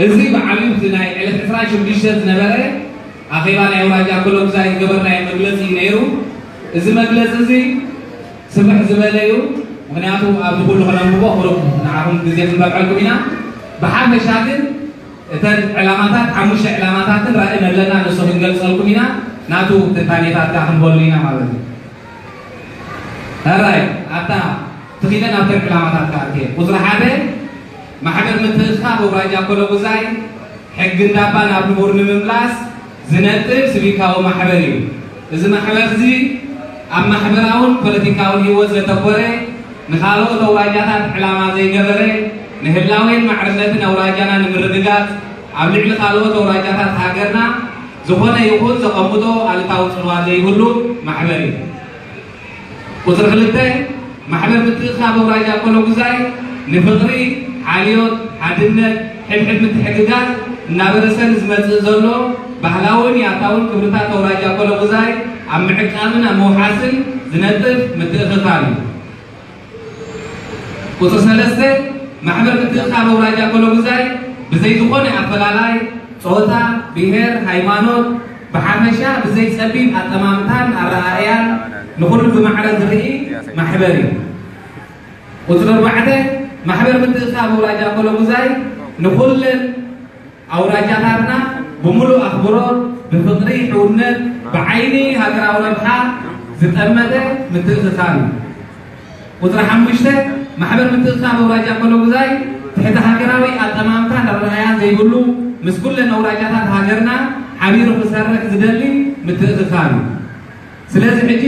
እዚ ብዓብዩ እቲ ናይ ዕለት ዕስራን ሽዱሽተን ዝነበረ ኣኼባ ናይ ኣውራጃ ኮሎጉዛይ ዝገበርናዮ መግለፂ እዩ ነይሩ። እዚ መግለፂ እዚ ስፍሕ ዝበለ እዩ። ምክንያቱ ኣብዚ ኩሉ ክነንብቦ ቅሩብ ንዓኹም ግዜ ክንበልዐልኩም ኢና። ብሓፈሻ ግን እተን ዕላማታት፣ ሓሙሽተ ዕላማታትን ራእይን ኣለና፣ ንሱ ክንገልፀልኩም ኢና። ናቱ ትንታኔታት ከዓ ክንበሉ ኢና ማለት እዩ። ሕራይ ኣብታ ትኺደን ኣብተን ዕላማታት ከዓ እትየ ቁፅሪ ሓደ ማሕበር ምትእኽኻብ ኣውራጃ ኮሎጉዛይ ሕጊ እንዳባ ናብ ንቡር ንምምላስ ዝነጥፍ ስቪካዊ ማሕበር እዩ። እዚ ማሕበር እዚ ኣብ ማሕበራውን ፖለቲካውን ህይወት ዘተኮረ፣ ንኻልኦት ኣውራጃታት ዕላማ ዘይገበረ፣ ንህላዌን ማዕርነትን ኣውራጃና ንምርግጋጽ ኣብ ልዕሊ ካልኦት ኣውራጃታት ሃገርና ዝኾነ ይኹን ዘቐምጦ ኣሉታዊ ጽልዋ ዘይብሉ ማሕበር እዩ። ቁፅሪ ክልተ ማሕበር ምትእኽኻብ ኣውራጃ ኮሎጉዛይ ንፍቕሪ፣ ሓልዮት፣ ሓድነት፣ ሕድሕድ ምትሕግጋዝ እናበረሰ ንዝመፅእ ዘሎ ባህላውን ያታውን ክብርታት ኣውራጃ ኮሎጉዛይ ኣብ ምዕቃብን ኣብ ምውሓስን ዝነጥፍ ምትእኽኻብ እዩ። ቁፅሪ ሰለስተ ማሕበር ምትእኽኻብ ኣውራጃ ኮሎጉዛይ ብዘይ ዝኾነ ኣፈላላይ ጾታ፣ ብሄር፣ ሃይማኖት፣ ብሓፈሻ ብዘይ ጸቢብ ኣጠማምታን ኣረኣእያን ንኹሉ ብማዕረ ዝርኢ ማሕበር እዩ። ቁፅሪ ኣርባዕተ ማሕበር ምትእኽኻብ ኣውራጃ ኮሎጉዛይ ንኹለን ኣውራጃታትና ብምሉእ ኣኽብሮት፣ ብፍቕሪ፣ ሕውነት፣ ብዓይኒ ሃገራዊ ረብሓ ዝጠመተ ምትእኽኻብ እዩ። ቁፅሪ ሓሙሽተ ማሕበር ምትእኽኻብ ኣውራጃ ኮሎጉዛይ ትሕቲ ሃገራዊ ኣጠማምታን ኣረኣእያን ዘይብሉ፣ ምስ ኩለን ኣውራጃታት ሃገርና ሓቢሩ ክሰርሕ ዝደሊ ምትእኽኻብ እዩ። ስለዚ ሕጂ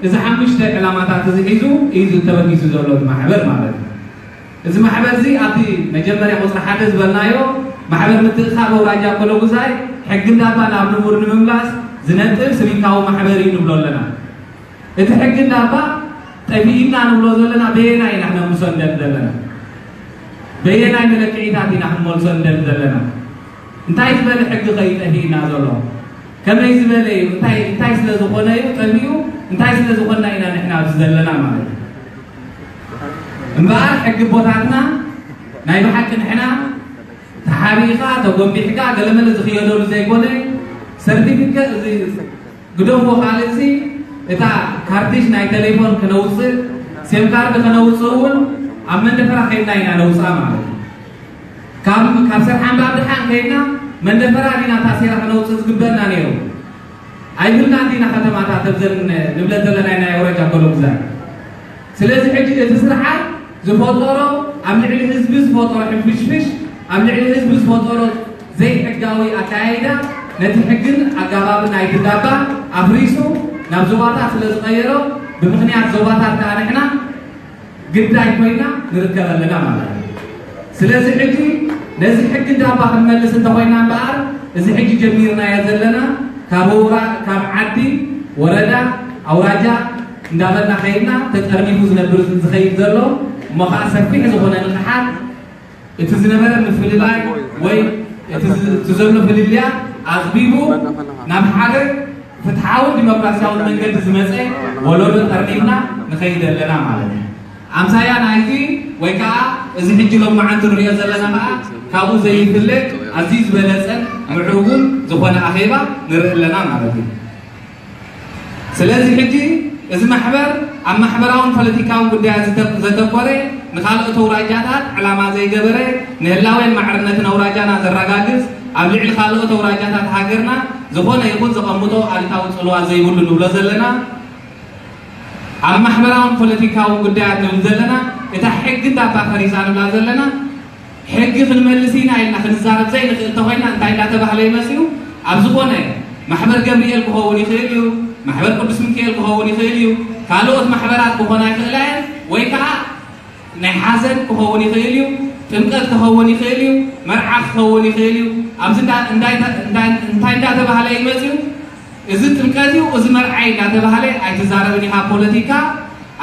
እዚ ሓሙሽተ ዕላማታት እዚ ሒዙ እዩ ተበጊሱ ዘሎ እቲ ማሕበር ማለት እዩ። እዚ ማሕበር እዚ ኣብቲ መጀመርያ ቁፅሪ ሓደ ዝበልናዮ ማሕበር ምትእኽኻብ ኣውራጃ ኮሎጉዛይ ሕጊ እንዳባ ናብ ንቡር ንምምላስ ዝነጥፍ ስቪካዊ ማሕበር እዩ ንብሎ ኣለና። እቲ ሕጊ እንዳባ ጠፊእና ንብሎ ዘለና በየናይ ኢና ክነምሶ እንደሊ ዘለና? በየናይ መለክዒታት ኢና ክንመልሶ እንደሊ ዘለና? እንታይ ዝበለ ሕጊ ከ እዩ ጠፊእና ዘሎ? ከመይ ዝበለ እዩ? እንታይ እንታይ ስለ ዝኾነ እዩ ጠፊኡ? እንታይ ስለ ዝኾንና ኢና ንሕና ኣብዚ ዘለና ማለት እዩ? እምበኣር ሕጊ ቦታትና ናይ ብሓቂ ንሕና ተሓቢእካ ተጎንቢሕካ ገለመለ ዝኽየደሉ ዘይኮነ ሰርቲፊኬት እዚ ግደፎ ካልእሲ እታ ካርቲሽ ናይ ቴሌፎን ከነውፅእ ሴም ካርድ ከነውፅእ እውን ኣብ መንደፈራ ከይድና ኢና ነውፅኣ ማለት እዩ። ካብ ካብ ሰርሓ እምበር ድሓን ከይድና መንደፈራ ዲና ታሴራ ከነውፅእ ዝግበእና ነይሩ። ኣይብልናን ዲና ከተማታት ኣብዘን ንብለን ዘለና ናይ ኣውራጃ ኮሎጉዛይ። ስለዚ ሕጂ እቲ ስርዓት ዝፈጠሮ ኣብ ልዕሊ ህዝቢ ዝፈጠሮ ሕንፍሽፍሽ ኣብ ልዕሊ ህዝቢ ዝፈጠሮ ዘይሕጋዊ ኣካያይዳ ነቲ ሕግን ኣጋባብን ናይቲ ዳባ ኣፍሪሱ ናብ ዞባታት ስለ ዝቐየሮ ብምኽንያት ዞባታት ከዓ ንሕና ግዳይ ኮይና ንርከብ ኣለና ማለት እዩ። ስለዚ ሕጂ ነዚ ሕጊ ዳባ ክንመልስ እንተኮይና እምበኣር እዚ ሕጂ ጀሚርናዮ ዘለና ካብ ውራ ካብ ዓዲ ወረዳ ኣውራጃ እንዳበልና ከይድና ተጠርኒፉ ዝነብር ዝኸይድ ዘሎ እሞ ከዓ ሰፊሕ ዝኾነ ንቕሓት እቲ ዝነበረ ምፍልላይ ወይ እቲ ዝ- እቲ ዘሎ ፍልልያ ኣፅቢቡ ናብ ሓደ ፍትሓውን ዲሞክራሲያውን መንገዲ ዝመፀ ወለዶ ጠርኒፍና ንኸይድ ኣለና ማለት እዩ። ኣምሳያ ናይቲ ወይ ከዓ እዚ ሕጂ ሎም መዓልቲ ንሪኦ ዘለና ከዓ ካብኡ ዘይፍለ ኣዝዩ ዝበለፀን ምዕሩጉን ዝኾነ ኣኼባ ንርኢ ኣለና ማለት እዩ። ስለዚ ሕጂ እዚ ማሕበር ኣብ ማሕበራውን ፖለቲካውን ጉዳያት ዝተ- ዘተኮረ ንካልኦት ኣውራጃታት ዕላማ ዘይገበረ ንህላዌን ማዕርነትን ኣውራጃና ዘረጋግፅ ኣብ ልዕሊ ካልኦት ኣውራጃታት ሃገርና ዝኾነ ይኹን ዘቐምጦ ኣሉታዊ ፅልዋ ዘይብሉ ንብሎ ዘለና ኣብ ማሕበራውን ፖለቲካውን ጉዳያት ንብል ዘለና እታ ሕጊ እንዳባ ፈሪሳ ንብላ ዘለና ሕጊ ክንመልስ ኢና ኢልና ክንዛረብ ዘይንኽእል እንተኾይና እንታይ እንዳተባህለ ይመፅኡ ኣብ ዝኾነ ማሕበር ገብርኤል ክኸውን ይኽእል እዩ፣ ማሕበር ቅዱስ ሚካኤል ክኸውን ይኽእል እዩ፣ ካልኦት ማሕበራት ክኾና ይኽእላ እየን ወይ ከዓ ናይ ሓዘን ክኸውን ይኽእል እዩ፣ ጥምቀት ክኸውን ይኽእል እዩ፣ መርዓ ክኸውን ይኽእል እዩ። ኣብዚ እንዳ- እንታይ እንታይ እንዳተባህለ ይመፅኡ እዚ ጥምቀት እዩ፣ እዚ መርዓ እዩ እንዳተባህለ ኣይትዛረብን ኢኻ ፖለቲካ፣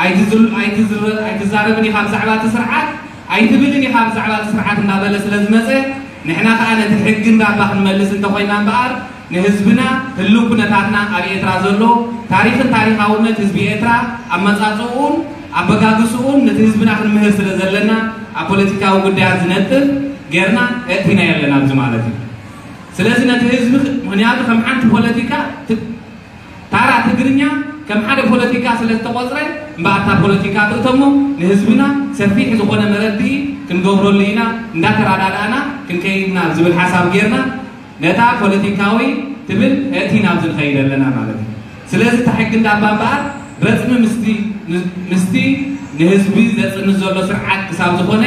ኣይትዝል- ኣይትዝረ- ኣይትዛረብን ኢኻ ብዛዕባ እቲ ስርዓት፣ ኣይትብልን ኢኻ ብዛዕባ እቲ ስርዓት እንዳበለ ስለ ዝመፀ ንሕና ከዓ ነቲ ሕጊ እንዳባ ክንመልስ እንተኾይና እምበኣር ንህዝብና ህልው ኩነታትና ኣብ ኤርትራ ዘሎ ታሪኽን ታሪኻውነት ህዝቢ ኤርትራ ኣመፃፅኡን ኣበጋግስኡን ነቲ ህዝብና ክንምህር ስለ ዘለና ኣብ ፖለቲካዊ ጉዳያት ዝነጥፍ ጌርና እእቲና የለን ኣብዚ ማለት እዩ። ስለዚ ነቲ ህዝቢ ክ- ምኽንያቱ ከም ሓንቲ ፖለቲካ ት- ታራ ትግርኛ ከም ሓደ ፖለቲካ ስለ ዝተቆፅረ እምበኣታ ፖለቲካ ትእተሞ ንህዝብና ሰፊሕ ዝኾነ መረድኢ ክንገብረሉ ኢና እንዳተረዳዳእና ክንከይድና ዝብል ሓሳብ ጌርና ነታ ፖለቲካዊ ትብል እቲ ናብ ዝንኸይድ ኣለና ማለት እዩ። ስለዚ እታ ሕጊ እንዳባ እምበኣር ረፅሚ ምስቲ ምስቲ ንህዝቢ ዘፅንት ዘሎ ስርዓት ክሳብ ዝኾነ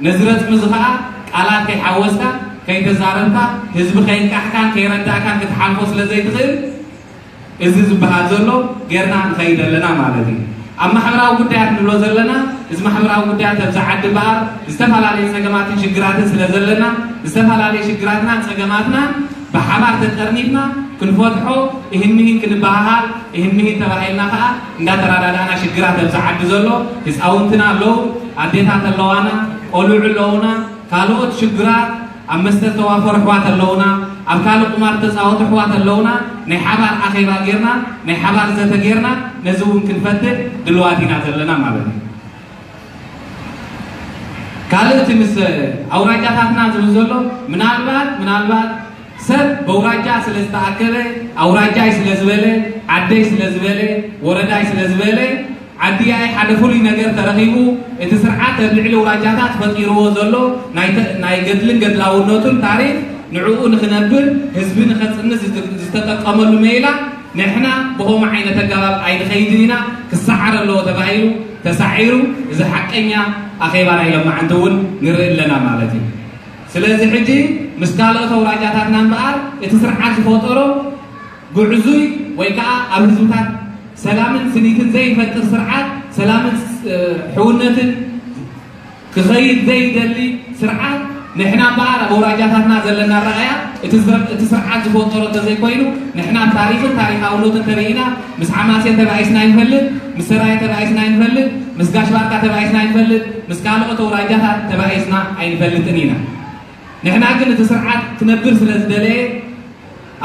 ነዚ ረፅሚ እዚ ከዓ ቃላት ከይሓወስካ ከይተዛረብካ ህዝቢ ከይንቃሕካን ከይረዳእካን ክትሓልፎ ስለ ዘይትኽእል እዚ ዝበሃል ዘሎ ጌርና ንኸይድ ኣለና ማለት እዩ። ኣብ ማሕበራዊ ጉዳያት ንብሎ ዘለና እዚ ማሕበራዊ ጉዳያት ኣብዚ ዓዲ እምበኣር ዝተፈላለዩ ፀገማትን ሽግራትን ስለ ዘለና ዝተፈላለዩ ሽግራትና ፀገማትና ብሓባር ተጠርኒፍና ክንፈትሖ እህን ምሂን ክንበሃሃል እህን ምሂን ተባሂልና ከዓ እንዳተረዳዳእና ሽግራት ኣብዚ ዓዲ ዘሎ ህፃውንትና ኣለዉ ኣዴታት ኣለዋና ቆልዑ ኣለዉና ካልኦት ሽግራት ኣብ መስተ ዝተዋፈሩ ኣሕዋት ኣለውና፣ ኣብ ካልእ ቁማር ዝተፃወቱ ኣሕዋት ኣለውና፣ ናይ ሓባር ኣኼባ ጌርና፣ ናይ ሓባር ዘተ ጌርና ነዚ እውን ክንፈትሕ ድልዋት ኢና ዘለና ማለት እዩ። ካልእ እቲ ምስ ኣውራጃታትና ዝብል ዘሎ ምናልባት ምናልባት ሰብ በውራጃ ስለ ዝተኣከበ ኣውራጃይ ስለ ዝበለ ዓደይ ስለ ዝበለ ወረዳይ ስለ ዝበለ ዓዲያይ ሓደ ፍሉይ ነገር ተረኺቡ እቲ ስርዓት ኣብ ልዕሊ ውራጃታት ፈጢርዎ ዘሎ ናይ ተ- ናይ ገድልን ገድላውነቱን ታሪክ ንዕኡ ንክነብር ህዝቢ ንኸፅንት ዝት- ዝተጠቀመሉ መይላ ንሕና ብኸምኡ ዓይነት ኣገባብ ኣይንኸይድን ኢና ክሰዓር ኣለዎ ተባሂሉ ተሳዒሩ እዚ ሓቀኛ ኣኼባ ናይ ሎማዓንቲ እውን ንርኢ ኣለና ማለት እዩ። ስለዚ ሕጂ ምስ ካልኦት ኣውራጃታትና እምበኣር እቲ ስርዓት ዝፈጠሮ ጉዕዙይ ወይ ከዓ ኣብ ህዝብታት ሰላምን ስኒትን ዘይፈጥር ስርዓት ሰላምን እ፣ ሕውነትን ክኸይድ ዘይደሊ ስርዓት ንሕና እምበኣር ኣብ ኣውራጃታትና ዘለና ረኣያ እቲ ዝረ- እቲ ስርዓት ዝፈጠሮ እንተዘይኮይኑ ንሕና ኣብ ታሪክን ታሪካውነትን ተሪኢና ምስ ሓማሴን ተባኢስና ይንፈልጥ ምስ ሰራየ ተባኢስና ይንፈልጥ ምስ ጋሽ ባርካ ተባኢስና ይንፈልጥ ምስ ካልኦት ኣውራጃታት ተባኢስና ኣይንፈልጥን ኢና ንሕና ግን እቲ ስርዓት ክነብር ስለ ዝደለየ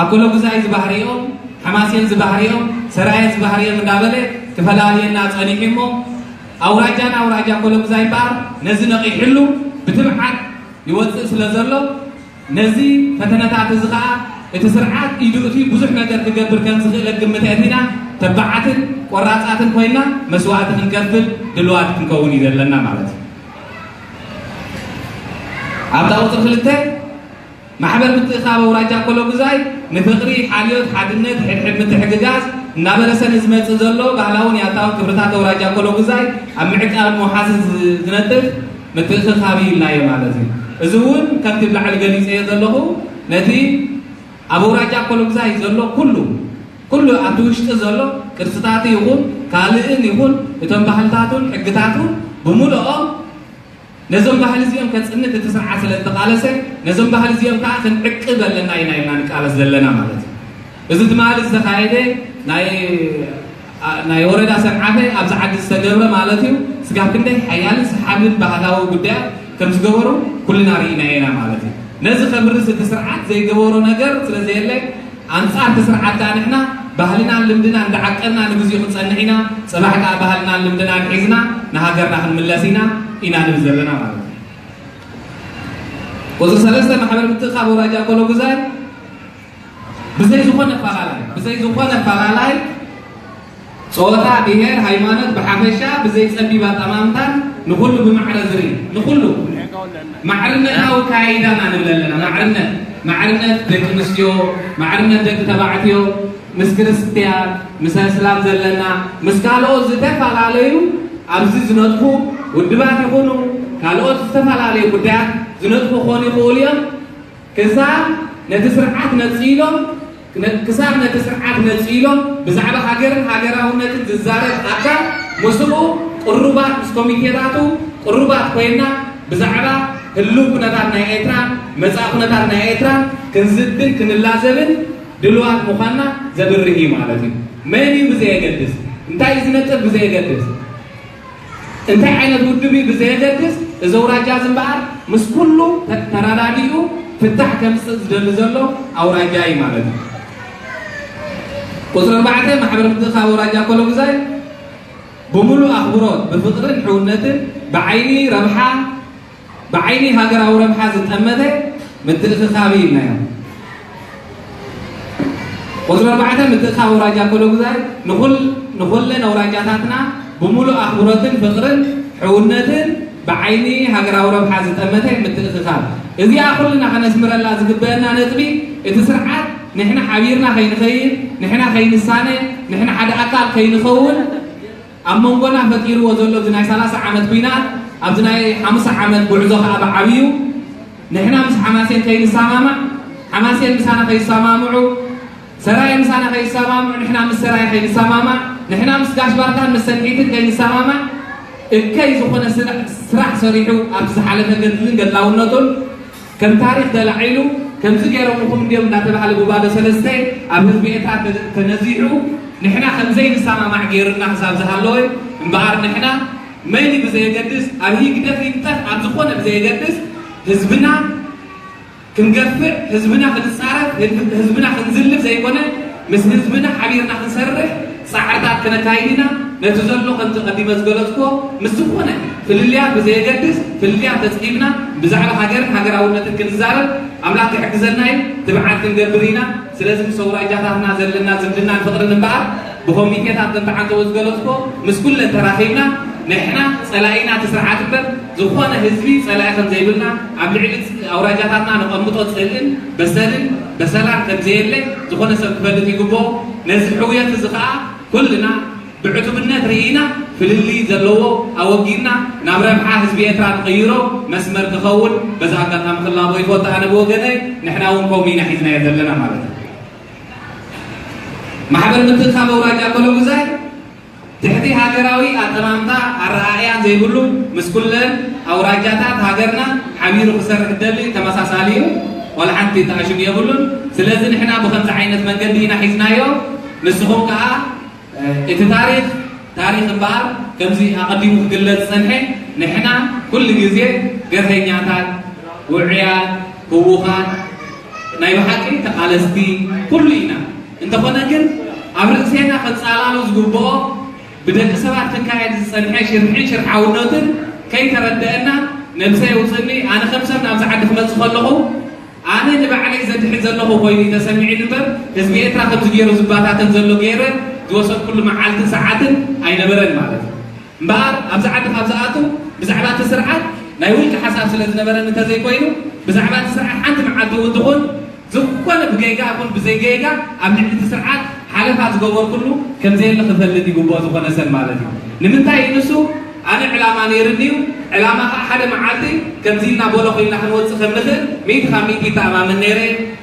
ኣኮሎጉዛይ ዝበህርኦም፣ ሓማሴን ዝበህርኦም፣ ሰራየ ዝበህርኦም እንዳበለ ክፈላልየና ጸኒሑ እሞ ኣውራጃና ኣውራጃ ኣኮሎጉዛይ እምበኣር ነዚ ነቒሕሉ ብትብዓት ይወጽእ ስለ ዘሎ ነዚ ፈተነታት እዚ ኸኣ እቲ ስርዓት ኢዱ እቲ ብዙሕ ነገር ክገብር ከም ዝኽእል ግምት ኣእቲና ተባዓትን ቆራጻትን ኮይና መስዋእቲ ክንከፍል ድልዋት ክንከውን እዩ ዘለና ማለት እዩ። ኣብታ ቁፅሪ ክልተ ማሕበር ምትእኻብ ኣውራጃ ኮሎጉዛይ ንፍቕሪ፣ ሓልዮት፣ ሓድነት፣ ሕድሕድ ምትሕግጋዝ እናበለሰ ንዝመፅእ ዘሎ ባህላውን ያታውን ክብርታት ኣውራጃ ኮሎጉዛይ ኣብ ምዕቃብ ምውሓስን ዝነጥፍ ምትእኽኻብ እዩ ኢልናዮ ማለት እዩ። እዚ እውን ከምቲ ብላዕሊ ገሊፀዮ ዘለኹ ነቲ ኣብ ኣውራጃ ኮሎጉዛይ ዘሎ ኩሉ ኩሉ ኣብቲ ውሽጢ ዘሎ ቅርስታት ይኹን ካልእን ይኹን እቶም ባህልታቱን ሕግታቱን ብምልኦም ነዞም ባህሊ እዚኦም ከፅንት እቲ ስርዓት ስለ ዝተቃለሰ ነዞም ባህሊ እዚኦም ከዓ ክንዕቅብ ኣለና ኢና ኢልና ንቃለስ ዘለና ማለት እዩ። እዚ ትማሊ ዝተኻየደ ናይ ናይ ወረዳ ሰንዓፈ ኣብዚ ዓዲ ዝተገብረ ማለት እዩ። ስጋብ ክንደይ ሓያልን ሰሓብን ባህላዊ ጉዳያት ከም ዝገበሩ ኩልና ርኢና ኢና ማለት እዩ። ነዚ ከብርስ እቲ ስርዓት ዘይገበሮ ነገር ስለ ዘየለ ኣንፃር እቲ ስርዓት ከዓ ንሕና ባህልና ልምድና እንዳዓቀብና ንግዚኡ ክንፀንሕ ኢና። ፅባሕ ከዓ ባህልና ልምድና ንሒዝና ንሃገርና ክንምለስ ኢና ኢና ንብል ዘለና ማለት እዩ። ቁፅሪ ሰለስተ ማሕበር ምትእኻብ ኣውራጃ ኮሎጉዛይ ብዘይ ዝኾነ ኣፈላላይ ብዘይ ዝኾነ ኣፈላላይ ፆታ፣ ብሄር፣ ሃይማኖት ብሓፈሻ ብዘይ ፀቢብ ኣጠማምታን ንኹሉ ብማዕረ ዝርኢ ንኹሉ ማዕርነታዊ ካይዳና ንብል ኣለና። ማዕርነት ማዕርነት ደቂ ኣንስትዮ፣ ማዕርነት ደቂ ተባዕትዮ፣ ምስ ክርስትያን ምስ ኣስላም ዘለና ምስ ካልኦት ዝተፈላለዩ ኣብዚ ዝነጥፉ ውድባት ይኹኑ ካልኦት ዝተፈላለዩ ጉዳያት ዝነጥፉ ክኾኑ ይኽእሉ እዮም። ክሳብ ነቲ ስርዓት ነፂሎም ክሳብ ነቲ ስርዓት ነፂሎም ብዛዕባ ሃገርን ሃገራውነትን ዝዛረብ ኣካል ምስኡ ቅሩባት ምስ ኮሚቴታቱ ቅሩባት ኮይና ብዛዕባ ህልው ኩነታት ናይ ኤርትራን መፃኢ ኩነታት ናይ ኤርትራን ክንዝትን ክንላዘብን ድልዋት ምዃንና ዘብርህ እዩ ማለት እዩ። መን እዩ ብዘየገድስ እንታይ እዩ ዝነጥፍ ብዘየገድስ እንታይ ዓይነት ውድብ እዩ ብዘየገድስ እዚ ኣውራጃ እዚ እምበኣር ምስ ኩሉ ተረዳዲኡ ፍታሕ ከምፅእ ዝደሊ ዘሎ ኣውራጃ እዩ ማለት እዩ። ቁፅሪ ኣርባዕተ ማሕበር ምትእኻብ ኣውራጃ ኮሎጉዛይ ብምሉእ ኣኽብሮት ብፍቕርን ሕውነትን ብዓይኒ ረብሓ ብዓይኒ ሃገራዊ ረብሓ ዝጠመተ ምትእኽኻብ ኢልናዮ። ቁፅሪ ኣርባዕተ ምትእኽኻብ ኣውራጃ ኮሎጉዛይ ንኹል ንኹለን ኣውራጃታትና ብምሉእ ኣኽብሮትን ፍቕርን ሕውነትን ብዓይኒ ሃገራዊ ረብሓ ዝጠመተ ምትእኽኻብ። እዚኣ ኩልና ከነስምረላ ዝግበአና ነጥቢ፣ እቲ ስርዓት ንሕና ሓቢርና ከይንኸይድ፣ ንሕና ከይንሳነ፣ ንሕና ሓደ ኣካል ከይንኸውን ኣብ መንጎና ፈጢርዎ ዘሎ እዚ ናይ ሰላሳ ዓመት ኲናት ኣብዚ ናይ ሓሙሳ ዓመት ጉዕዞ ከዓ ብዓብዩ ንሕና ምስ ሓማሴን ከይንሰማማዕ፣ ሓማሴን ምሳና ከይሰማምዑ፣ ሰራየ ምሳና ከይሰማምዑ፣ ንሕና ምስ ሰራየ ከይንሰማማዕ፣ ንሕና ምስ ጋሽ ባርካን ምስ ሰንሒትን ከይንሰማማዕ፣ እከይ ዝኾነ ስራሕ ሰሪሑ ኣብዚ ዝሓለፈ ገድልን ገድላውነቱን ከም ታሪኽ ተላዒሉ፣ ከምዚ ገይሮምኹም እንዲዮም እንዳተባህለ ብባዶ ሰለስተ ኣብ ህዝቢ ኤርትራ ተነዚሑ፣ ንሕና ከም ዘይንሰማማዕ ገይሩና ክሳብ ዝሃለወ እምበኣር፣ ንሕና መን ብዘየገድስ፣ ኣብ ህግደፍ ይንጠፍ ኣብ ዝኾነ ብዘየገድስ፣ ህዝብና ክንገፍዕ፣ ህዝብና ክንጻረፍ፣ ህዝብና ክንዝልፍ ዘይኮነ፣ ምስ ህዝብና ሓቢርና ክንሰርሕ ጻዕርታት ክነካይድ ኢና። ነቲ ዘሎ ከምቲ ቀዲመ ዝገለጽኩዎ ምስ ዝኾነ ፍልልያት ብዘየገድስ፣ ፍልልያት ተጽጊብና ብዛዕባ ሃገርን ሃገራውነትን ክንዛረብ ኣምላኽ ክሕግዘና እዩ። ትብዓት ክንገብር ኢና። ስለዚ ምስ ኣውራጃታትና ዘለና ዝምድናን ፍቕርን እምበኣር ብኮሚቴታት ከምቲ ዓንተቦ ዝገለጽኩዎ ምስ ኩለን ተራኺብና ንሕና ጸላኢና እቲ ስርዓት እምበር ዝኾነ ህዝቢ ጸላኢ ከም ዘይብልና ኣብ ልዕሊ ኣውራጃታትና ነቐምጦ ጽልእን በሰልን በሰላን ከም ዘየለ ዝኾነ ሰብ ክፈልጥ ይግብኦ። ነዚ ሕውየት እዚ ኸኣ ኩልና ብዕቱብነት ርኢና ፍልልይ ዘለዎ ኣወጊድና ናብ ረብሓ ህዝቢ ኤርትራ ንቐይሮ መስመር ክኸውን በዚ ኣጋጣሚ ክላቦ ይፈቱ። ኣነ ብወገነይ ንሕና እውን ከምኡ ኢና ሒዝናዮ ዘለና ማለት እዩ። ማሕበር ምትእኽኻብ ኣውራጃ ኮሎጉዛይ ትሕቲ ሃገራዊ ኣጠማምታ ኣረኣእያን ዘይብሉ ምስ ኩለን ኣውራጃታት ሃገርና ሓቢሩ ክሰርሕ ደሊ ተመሳሳሊ እዩ። ዋላ ሓንቲ ተኣሽሙ የብሉን። ስለዚ ንሕና ብኸምዚ ዓይነት መንገዲ ኢና ሒዝናዮ። ንስኹም ከኣ እቲ ታሪኽ ታሪኽ እምበኣር ከምዚ ኣቐዲሙ ክግለጽ ዝጸንሐ ንሕና ኩሉ ግዜ ገርሀኛታት፣ ውዑያት፣ ህዉኻት፣ ናይ ብሓቂ ተቓለስቲ ኩሉ ኢና። እንተኾነ ግን ኣብ ርእሴና ከንጻላሎ ዝግብኦ ብደቂ ሰባት ክካየድ ዝጸንሐ ሽርሕን ሽርሓውነትን ከይተረደአና ነብሰ የውፅእኒ። ኣነ ከም ሰብ ናብዚ ዓዲ ክመጽእ ከለኹ ኣነ ንባዕለይ ዘድሕን ዘለኹ ኮይኑ እዩ ተሰሚዑኒ እምበር ህዝቢ ኤርትራ ከምዚ ገይሩ ዝባታተን ዘሎ ገይረ ዝወሰድኩሉ መዓልትን ሰዓትን ኣይነበረን ማለት እዩ። እምበኣር ኣብዚ ዓዲ ካብ ዝኣቱ ብዛዕባ እቲ ስርዓት ናይ ውልቂ ሓሳብ ስለ ዝነበረኒ እንተዘይኮይኑ ብዛዕባ እቲ ስርዓት ሓንቲ መዓልቲ እውን ትኹን ዝኾነ ብጌጋ ይኹን ብዘይጌጋ ኣብ ልዕሊ እቲ ስርዓት ሓለፋ ዝገበርኩሉ ከም ዘየለ ክፈልጥ ይግብኦ ዝኾነ ሰብ ማለት እዩ። ንምንታይ እዩ ንሱ ኣነ ዕላማ ነይርኒ እዩ። ዕላማ ከዓ ሓደ መዓልቲ ከምዚ ኢልና ቦሎ ኮይና ክንወፅእ ከም ንኽእል ሚእቲ ካብ ሚእቲ ይተኣማመን ነይረ።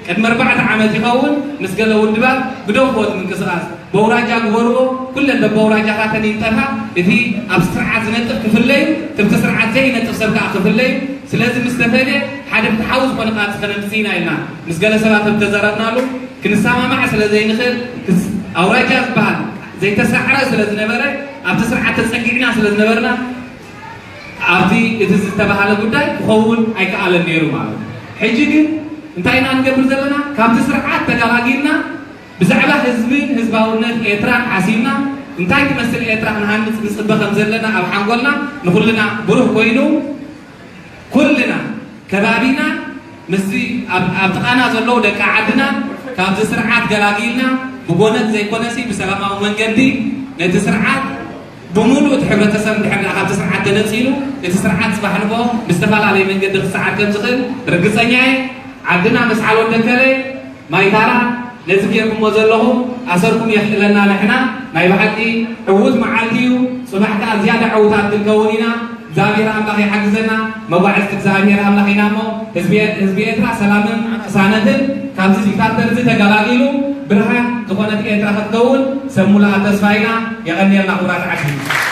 ቅድሚ ኣርባዕተ ዓመት ይኸውን ምስ ገለ ውድባት ብደንጎት ምንቅስቃስ በውራጃ ግበርዎ፣ ኩለን በበውራጃታተን ይንጠፋ። እቲ ኣብ ስርዓት ዝነጥፍ ክፍለ እዩ፣ ትብቲ ስርዓት ዘይነጥፍ ሰብ ከዓ ክፍለ እዩ። ስለዚ ምስ ተፈልየ ሓደ ፍትሓዊ ዝኾነ ቃልሲ ከነምፅእ ኢና ኢልና ምስ ገለ ሰባት ተዘረብናሉ። ክንሰማማዕ ስለ ዘይንኽእል ክስ- ኣውራጃ ዝበሃል ዘይተሳዕረ ስለ ዝነበረ ኣብቲ ስርዓት ተፀጊዕና ስለ ዝነበርና ኣብቲ እቲ ዝተባሃለ ጉዳይ ክኸውን ኣይከኣለን ነይሩ ማለት እዩ። ሕጂ ግን እንታይ ኢና ንገብር ዘለና? ካብቲ ስርዓት ተገላጊልና ብዛዕባ ህዝብን ህዝባውነት ኤርትራን ሓሲብና እንታይ ትመስል ኤርትራ ክንሃንፅ ንፅበ ከም ዘለና ኣብ ሓንጎልና ንኩልና ብሩህ ኮይኑ ኩልና ከባቢና ምስዚ ኣብ ኣብ ጥቓና ዘለዉ ደቂ ዓድና ካብዚ ስርዓት ገላጊልና ብጎነጽ ዘይኮነሲ ብሰላማዊ መንገዲ ነቲ ስርዓት ብምሉእ እቲ ሕብረተሰብ እንድሕር ደኣ ካብቲ ስርዓት ተነጺሉ እቲ ስርዓት ጽባሕ ንግሆ ብዝተፈላለየ መንገዲ ክሰዓር ከም ዝኽእል ርግጸኛ እየ። ዓድና መስዓል ወደከለ ማይታራ ነዚ ጌርኩሞ ዘለኹም ኣሰርኩም የኽእለና ንሕና ናይ ብሓቂ ዕዉት መዓልቲ እዩ። ጽባሕ ከኣ ዝያዳ ዕዉታት ክንከውን ኢና። እግዚኣብሔር ኣምላኽ ይሓግዘና። መጓዕዝቲ እግዚኣብሔር ኣምላኽ ኢና እሞ ህዝቢ ህዝቢ ኤርትራ ሰላምን ቅሳነትን ካብዚ ዲክታተር እዚ ተገላጊሉ ብርሃን ዝኾነት ኤርትራ ክትከውን ሰብ ሙሉኣ ተስፋ ኢና። የቐንየልና ክቡራት ዓዲ።